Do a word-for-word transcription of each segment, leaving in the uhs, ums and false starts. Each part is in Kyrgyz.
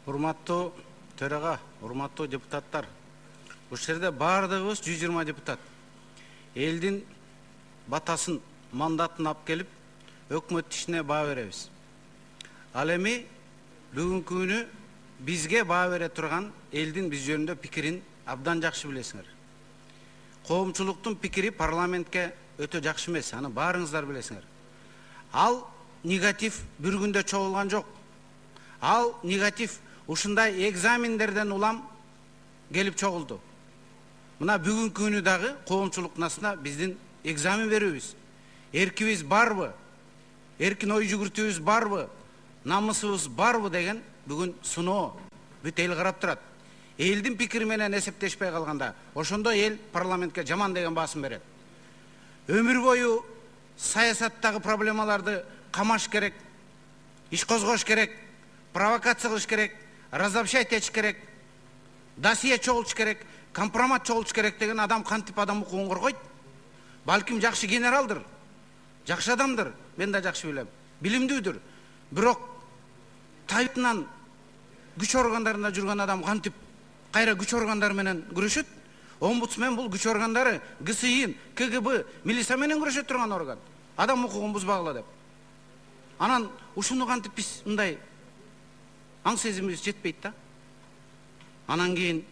Урматтуу төрага, урматтуу депутаттар. Ушул жерде баардыгыбыз жүз жыйырма депутат. Элдин батасын, мандатын алып келип, өкмөт ишине баа беребиз. Ал эми бүгүнкү күнү бизге баа бере турган элдин биз жөнүндө пикирин абдан жакшы билесиңер. Коомчулуктун пикири парламентке өтө жакшы эмес, аны баарыңыздар билесиңер. Ал негатив бир күндө чогулган жок. Ал негатив ушундай экзамендерден улам келип чогулду. Мына бүгүнкү күнү дагы коомчулуктун астына биздин экзамен берүүбүз, эркибиз барбы, эркин ой жүгүртүүбүз барбы, намысыбыз барбы деген бүгүн сыноо бүт эл карап турат. Элдин пикири менен эсептешпей калганда, ошондо эл парламентке жаман деген баасын берет. Өмүр бою саясаттагы проблемаларды камаш керек, иш козгош керек, провокация кылыш керек, разобщать этиш керек, досье чогултуш керек, компромат чогултуш керек деген адам кантип адам укугун коргойт? Балким жакшы генералдыр, жакшы адамдыр, мен да жакшы билем, билимдүүдүр. Бирок тайытынан күч органдарында жүргөн адам кантип кайра күч органдары менен күрөшөт? Омбудсмен бул күч органдары ГСИ, КГБ, милиция менен күрөшө турган орган. Адам укугун бузбагыла деп. Анан ушуну кантип биз мындай аң сезимибиз жетпейт да. Анан кийин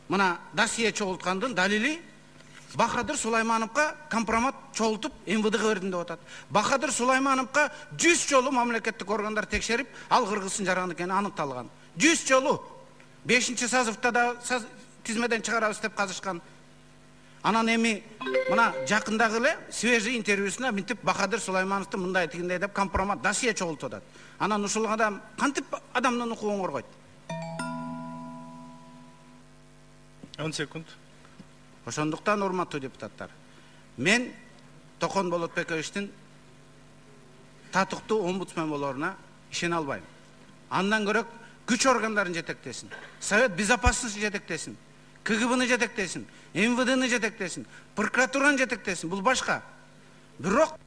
мына досье чогулткандын далили Бахадыр Сулаймановго компромат чогултуп эм вэ дэ бердим деп атат. Бахадыр Сулаймановго жүз жолу мамлекеттик органдар текшерип, ал кыргыздын жараны экени аныкталган. жүз жолу. бешинчи созывда да тизмеден чыгарабыз деп казышкан. Анан эми мына жакындагы эле свежий интервьюсуна мынтип Бахадыр Сулаймановду мындай тигиндей деп компромат досье чогултуп атат. Анан ушул адам кантип адамдын укугун коргойт? он секунд. Ошондуктан урматтуу депутаттар, мен Токон Болотбековичтин татыктуу омбудсмен болоруна ишене албайм. Андан көрөк күч органдарын жетектесин, Совет Безопасности жетектесин, КГБны жетектесин, эм вэ дэны жетектесин, прокуратураны жетектесин. Бул башка. Бирок